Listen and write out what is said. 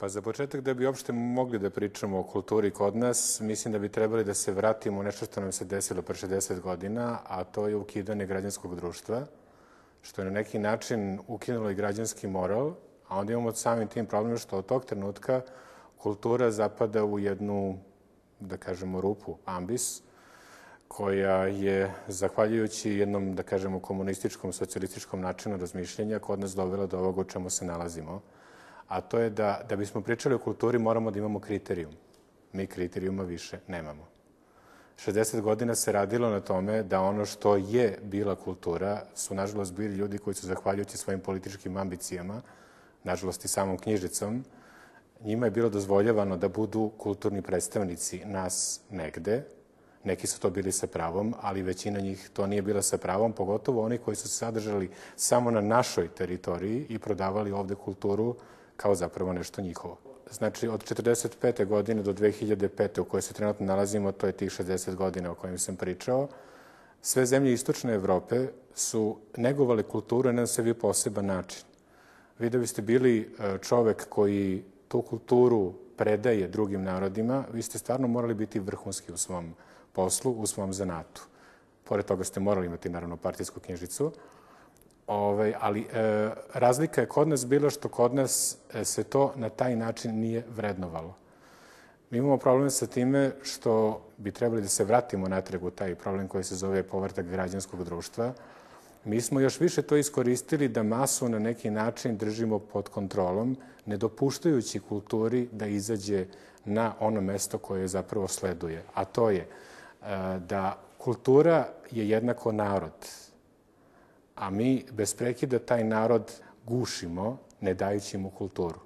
Pa za početak, da bi uopšte mogli da pričamo o kulturi kod nas, mislim da bi trebali da se vratimo u nešto što nam se desilo pre 60 godina, a to je ukidanje građanskog društva, što je na neki način ukinulo i građanski moral, a onda imamo samim tim problem što od tog trenutka kultura zapada u jednu, da kažemo, rupu, ambis, koja je, zahvaljujući jednom, da kažemo, komunističkom, socijalističkom načinu razmišljenja, kod nas dovela do ovoga u čemu se nalazimo. A to je da bismo pričali o kulturi moramo da imamo kriterijum. Mi kriterijuma više nemamo. 60 godina se radilo na tome da ono što je bila kultura su, nažalost, bili ljudi koji su, zahvaljujući svojim političkim ambicijama, nažalost i samom knjižicom, njima je bilo dozvoljavano da budu kulturni predstavnici nas negde. Neki su to bili sa pravom, ali većina njih to nije bila sa pravom, pogotovo oni koji su se sadržali samo na našoj teritoriji i prodavali ovde kulturu kao zapravo nešto njihovo. Znači, od 1945. godine do 2005. u kojoj se trenutno nalazimo, to je tih 60 godina o kojim sam pričao, sve zemlje istočne Evrope su negovale kulturu na sebi poseban način. Vi da biste bili čovek koji tu kulturu predaje drugim narodima, vi ste stvarno morali biti vrhunski u svom poslu, u svom zanatu. Pored toga ste morali imati, naravno, partijsku knjižicu, ali razlika je kod nas bila što kod nas se to na taj način nije vrednovalo. Mi imamo problem sa time što bi trebali da se vratimo natrag u taj problem koji se zove povratak građanskog društva. Mi smo još više to iskoristili da masu na neki način držimo pod kontrolom, ne dopuštajući kulturi da izađe na ono mesto koje zapravo sleduje. A to je da kultura je jednako narod, a mi bez prekida taj narod gušimo, ne dajući mu kulturu.